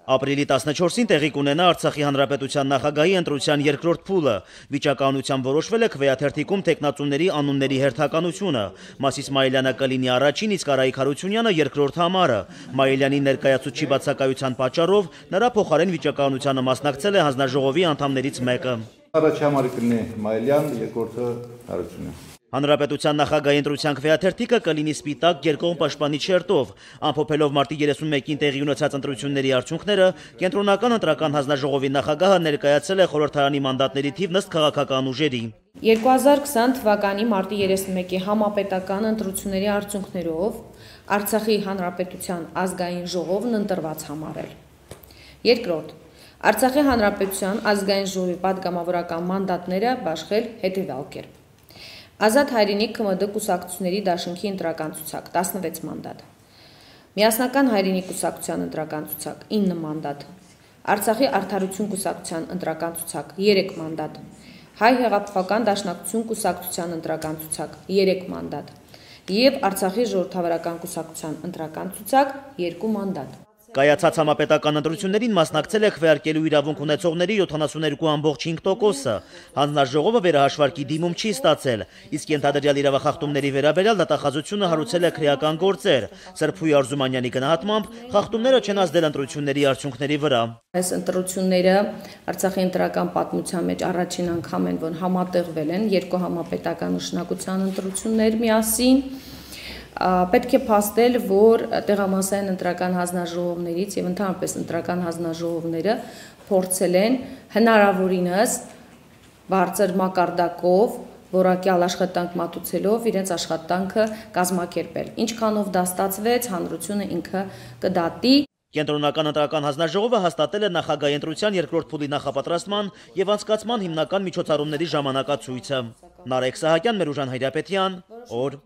Ապրիլի 14-ին տեղի կունենա Արցախի Հանրապետության նախագահի ընտրության երկրորդ փուլը։ Վիճակահանությամբ որոշվել է քվեաթերթիկում տեխնացուների անունների հերթականությունը։ Մասիս Մայիլյանը կլինի առաջին, իսկ Արայիկ Հարությունյանը երկրորդ համարը։ Մայիլյանի ներկայացուցչի բացակայության պատճառով նրա փոխարեն վիճակահանությանը մասնակցել է հանձնաժողովի անդամներից մեկը։ Առաջին համարը կլինի Մայիլյան, երկրորդը Հարությունյան։ Հանրապետության նախագահի ընտրության քվեաթերթիկը կլինի սպիտակ երկկողմ պաշտպանի շերտով։ Ամփոփելով մարտի 31-ին տեղի ունեցած ընտրությունների արդյունքները, Կենտրոնական ընտրական հանձնաժողովի նախագահը ներկայացրել է խորհրդարանի մանդատների թիվ ըստ քաղաքական ուժերի։ 2020 թվականի մարտի 31-ի համապետական ընտրությունների արդյունքներով Արցախի Հանրապետության ազգային ժողովն ընտրված համարել։ Երկրորդ, Արցախի Հանրապետության ազգային ժողովի պատգամավորական մանդատները բաշխել հետևյալ կերպ։ Ազատ հայրենիք ԿՄԴ կուսակցությունների դաշինքի ընտրական ցուցակ 16 մանդատ, Միասնական հայրենիք կուսակցության ընտրական ցուցակ 9 մանդատ, Արցախի արդարություն կուսակցության ընտրական ցուցակ 3 մանդատ, Հայ հեղափոխական դաշնակցություն կուսակցության ընտրական ցուցակ 3 մանդատ եւ Արցախի ժողովրդավարական կուսակցության ընտրական ցուցակ 2 մանդատ։ Կայացած համապետական ընտրություններին մասնակցել է քվեարկելու իրավունք ունեցողների 72.5%-ը։ Հանձնաժողովը վերահաշվարկի դիմում չի ստացել, իսկ ենթադրյալ իրավախախտումների վերաբերյալ դատախազությունը հարուցել է քրեական գործեր։ Սրփուի Արզումանյանի գնահատմամբ խախտումները չեն ազդել ընտրությունների արդյունքների վրա։ Այս ընտրությունները Արցախի ընտրական պատմության մեջ առաջին անգամ են, որ համատեղվել են երկու համապետական նշանակության ընտրություններ միասին։ Պետք է փաստել, որ տեղամասային ընտրական հանձնաժողովներից եւ ընդհանրապես ընտրական հանձնաժողովները փորձել են հնարավորինս բարձր մակարդակով որակյալ աշխատանք մատուցելով իրենց աշխատանքը կազմակերպել։ Ինչքանով դա ստացվեց, հանրությունը ինքը կդատի։ Կենտրոնական ընտրական հանձնաժողովը հաստատել է նախագահի ընտրության երկրորդ փուլի նախապատրաստման եւ անցկացման հիմնական միջոցառումների ժամանակացույցը։ Նարեկ Սահակյան, Մերուժան Հայրապետյան, օր